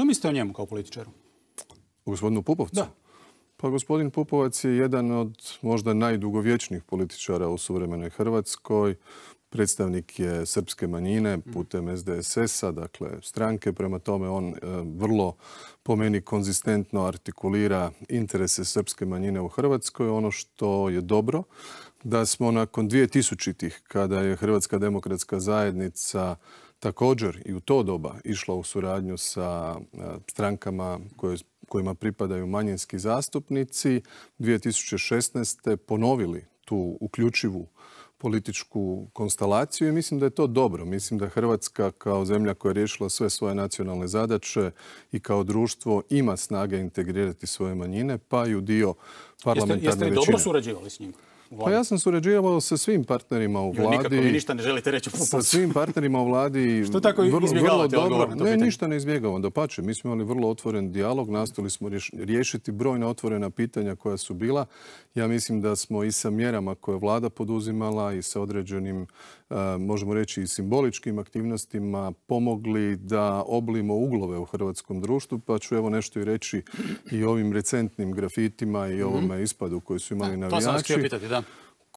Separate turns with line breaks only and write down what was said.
Što mislite o njemu kao političaru?
O gospodinu Pupovcu?
Da.
Pa gospodin Pupovac je jedan od možda najdugovječnijih političara u suvremenoj Hrvatskoj. Predstavnik je srpske manjine putem SDSS-a, dakle stranke. Prema tome on vrlo, po meni, konzistentno artikulira interese srpske manjine u Hrvatskoj. Ono što je dobro, da smo nakon 2000-ih, kada je Hrvatska demokratska zajednica također i u to doba išla u suradnju sa strankama kojima pripadaju manjinski zastupnici, 2016. ponovili tu uključivu političku konstelaciju i mislim da je to dobro. Mislim da Hrvatska kao zemlja koja je riješila sve svoje nacionalne zadaće i kao društvo ima snage integrirati svoje manjine, pa i u dio parlamentarne većine.
Jeste li dobro surađivali s njim?
Pa ja sam surađivao sa svim partnerima u vladi.
Nikako vi ništa ne želite reći o Pupovcu.
Sa svim partnerima u vladi.
Što tako izbjegavate odgovor na to pitanje?
Ne, ništa ne izbjegavamo. Dapače, mi smo imali vrlo otvoren dijalog, nastojali smo riješiti brojna otvorena pitanja koja su bila. Ja mislim da smo i sa mjerama koje je vlada poduzimala i sa određenim, možemo reći, i simboličkim aktivnostima pomogli da oblimo uglove u hrvatskom društvu, pa ću evo nešto i reći i ovim recentnim grafitima i ovome ispadu koji su imali navijači.
To sam vas htio pitati, da.